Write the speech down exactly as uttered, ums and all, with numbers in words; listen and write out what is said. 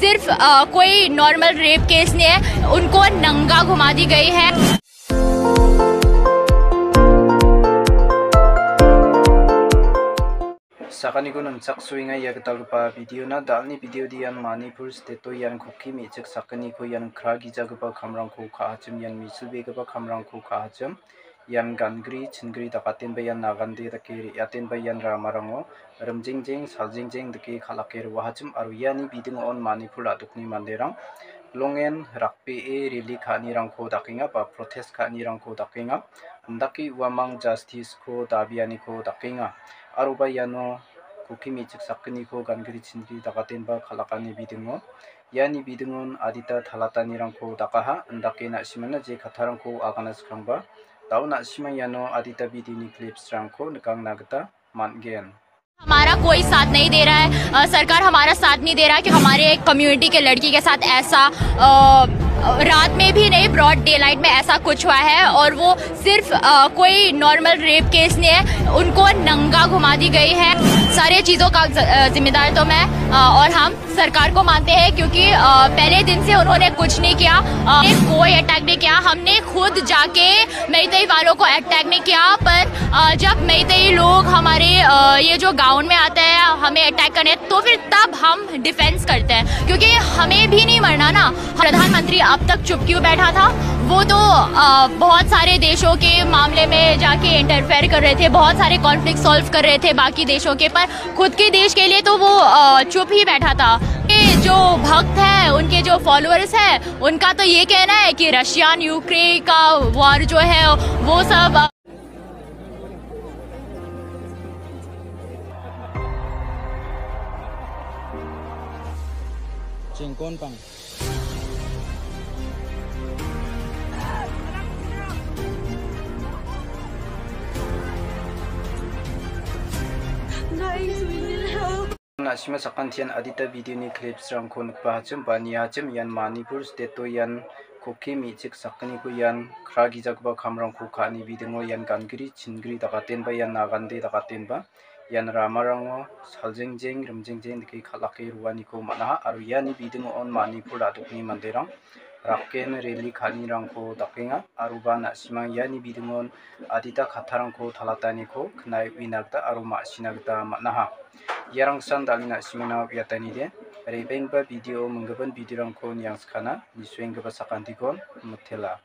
सिर्फ, अ, कोई normal rape case नहीं है, उनको नंगा घुमा दी गई है। Sakaniko nangchaksoenga ia gitalgipa video-na. Dalni video-de ian Manipur state-o ian Kuki me·chik sakgniko ian kra gijagipa kamrangko ka·achim, ian misilbegipa kamrangko ka·achim. Ian gangri chingri dakatenba ian nagande dake re·atenba ian ramarango rimjengjeng saljengjeng dake kal·ake roahachim aro iani bidingo on Manipur a·dokni manderang longen rakbee rally ka·anirangko dakenga ba protest ka·anirangko dakenga. Indake uamang justice-ko dabianiko dakenga. Aroba iano Kuki me·chik sakgniko gangri chingri dakatenba kal·akani bidingo, iani bidingon adita talatanirangko dakaha, indake na·simana je kattarangko agana skangba, dao na·simang iano adita bidini clips-rangko nikangna gita man·gen. हमारा कोई साथ नहीं दे रहा है, अ, सरकार हमारा साथ नहीं दे रहा कि हमारे कम्युनिटी के लड़की के साथ ऐसा, अ, रात में भी नहीं, ब्रॉड डे लाइट में ऐसा कुछ हुआ है और वो सिर्फ, अ, कोई नॉर्मल रेप केस नहीं है, उनको नंगा घुमा दी गई है। सारे चीज़ों का ज-, अ, जिम्मेदार तो मैं, अ, और हम सरकार को मानते हैं क्योंकि, अ, पहले दिन से उन्होंने कुछ नहीं किया, अ, कोई अटैक नहीं किया। हमने खुद जाके मेइतेई वालों को अटैक नहीं किया, पर, अ, जब मेइतेई लोग हमारे, अ, ये जो गांव में आते हैं हमें अटैक करने, तो फिर तब हम डिफेंस करते हैं क्योंकि हमें भी नहीं मरना ना। प्रधानमंत्री अब तक चुप क्यों बैठा था? वो तो, अ, बहुत सारे देशों के मामले में जाके इंटरफेयर कर रहे थे, बहुत सारे कॉन्फ्लिक्ट सॉल्व कर रहे थे बाकी देशों के, पर खुद के देश के लिए तो वो, अ, चुप ही बैठा था। ये जो भक्त है, उनके जो फॉलोअर्स है, उनका तो ये कहना है कि रशियन यूक्रेन का वॉर जो है, वो सब, अ, Jengkon pang. Na·sima sakantian adita video-ni clips-rangko nikbahachim ba niachim, ian Manipur state-o ian Kuki me·chik sakgniko ian kra gijagipa kamrangko ka·ani bidingo ian gangri chingri dakatenba ian nagande dakatenba ian ramarango saljengjeng rimjengjeng dake kal·ake roaniko man·aha aro iani bidingo on Manipur a·dokni manderang raken rally ka·anirangko dakenga aroba na·simang iani bidingon adita kattarangko talataniko knae uina gita aro ma·sina gita man·aha. Iarangsan dalina simana uiatanide, re·baenggipa video, minggipa video-rangko niangskana, nisuenggipa sakantikon mitela.